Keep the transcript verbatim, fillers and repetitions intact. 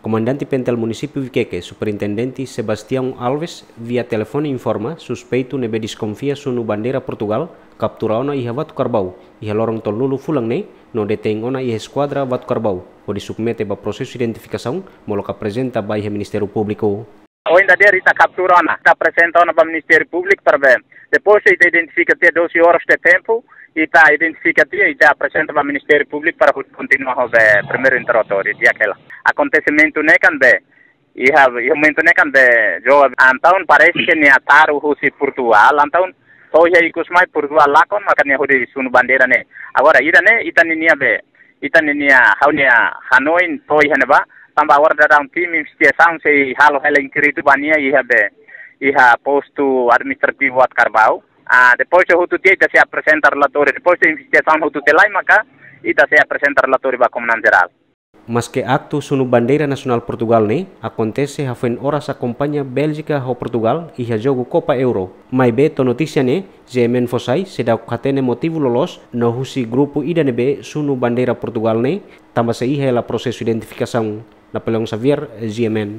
Komandante Pentel Munisípiu Viqueque, Superintendente Sebastião Alves, via telefone informa suspeitu ne'ebé deskonfia sunu bandeira Portugal, kaptura ona iha Vatukarbau, iha loron tolunulu fulan ne'e, no detein ona iha eskuadra Vatukarbau, hodi submete ba prosesu identifikasaun, molok aprezenta ba iha Ministériu Públiku. Ohin dadeer ita kaptura ona, ita aprezenta ona ba Ministériu Públiku para be. Depois ita identifika tiha doze horas de tempu, ita identifika tiha, ita aprezenta ba Ministériu Públiku para kontinua ho be primeiru interrogatóriu, di'ak hela. Akontesimentu ne'e kan be, iha, iha momentu ne'e kan be, jo, entaun parese ke nia taru husi Portugal, entaun to'o iha ikus mai Portugal lakon, maka nia hodi sunu bandeira ne'e. Agora, ida-ne'e, ita ninia be, ita ninia, ha'u-nia hanoin to'o iha ne'ebá, tanba agora daudaun tim investigasaun sei halo hela inkéritu ba nia iha be, iha postu administrativu Vatukarbau. Ah, depois de hotu tiha, ita sei aprezenta relatóriu, depois de investigasaun hotu tiha lai, maka ita sei aprezenta relatóriu ba Komandante Jerál. Maske aktu sunu bandeira nasionál Portugal ne'e akontese hafoin oras akompaña Béljika ho Portugal iha jogu Kopa Euro. Maibé to'o notísia ne'e, G M N fó sai seidauk hatene motivu loloos no husi grupu ida ne'ebé sunu bandeira Portugal ne'e, tanba sei iha hela prosesu identifikasaun. Napoleão Xavier, G M N.